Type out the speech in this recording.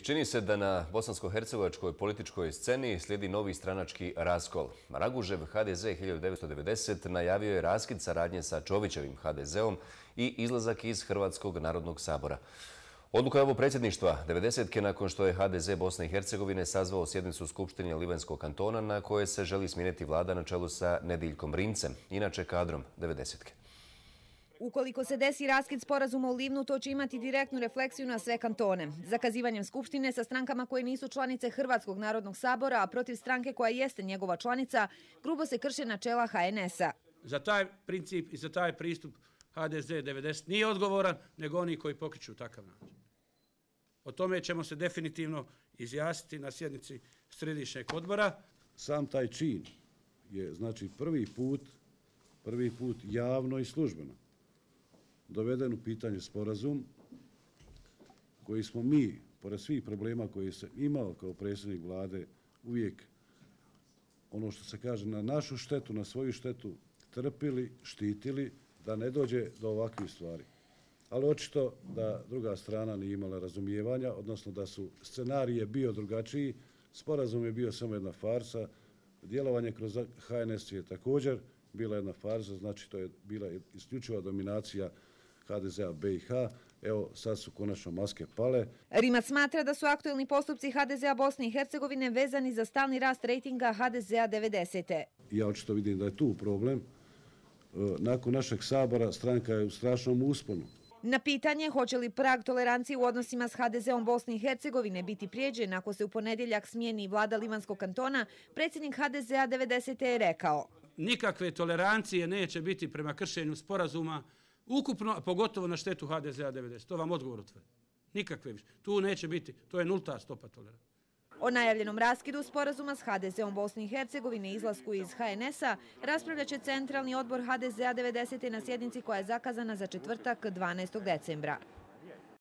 Čini se da na bosansko-hercegovačkoj političkoj sceni slijedi novi stranački raskol. Ragužev HDZ 1990 najavio je raskid saradnje sa Čovićevim HDZ-om i izlazak iz Hrvatskog narodnog sabora. Odluka je ovo predsjedništva 90-ke nakon što je HDZ Bosne i Hercegovine sazvao sjednicu Skupštine Livanjskog kantona na koje se želi smijeniti vlada na čelu sa Nediljkom Rincem, inače kadrom 90-ke. Ukoliko se desi raskid sporazuma u Livnu, to će imati direktnu refleksiju na sve kantone. Zakazivanjem Skupštine sa strankama koje nisu članice Hrvatskog narodnog sabora, a protiv stranke koja jeste njegova članica, grubo se krše načela HNS-a. Za taj princip i za taj pristup HDZ 90 nije odgovoran, nego oni koji pokreću takav način. O tome ćemo se definitivno izjasniti na sjednici središnjeg odbora. Sam taj čin je znači prvi put javno i službeno doveden u pitanje sporazum koji smo mi, pored svih problema koje sam imao kao predsjednik vlade, uvijek ono što se kaže na našu štetu, na svoju štetu, trpili, štitili da ne dođe do ovakvih stvari. Ali očito da druga strana nije imala razumijevanja, odnosno da su scenarije bio drugačiji, sporazum je bio samo jedna farsa, djelovanje kroz HNS je također bila jedna farsa, znači to je bila isključiva dominacija HDZ-a BiH. Evo, sad su konačno maske pale. Rimac smatra da su aktuelni postupci HDZ-a Bosne i Hercegovine vezani za stalni rast rejtinga HDZ-a 90. Ja očito vidim da je tu problem. Nakon našeg sabora stranka je u strašnom usponu. Na pitanje hoće li prag tolerancije u odnosima s HDZ-om Bosne i Hercegovine biti prijeđen ako se u ponedjeljak smijeni vlada Livanjskog kantona, predsjednik HDZ-a 90. je rekao: nikakve tolerancije neće biti prema kršenju sporazuma, ukupno, a pogotovo na štetu HDZ-a 90. To vam odgovor utvrdi. Nikakve više. Tu neće biti. To je nulta stopa tolerancije. O najavljenom raskidu sporazuma s HDZ-om Bosne i Hercegovine i izlasku iz HNS-a raspravljat će Centralni odbor HDZ-a 90. na sjednici koja je zakazana za četvrtak 12. decembra.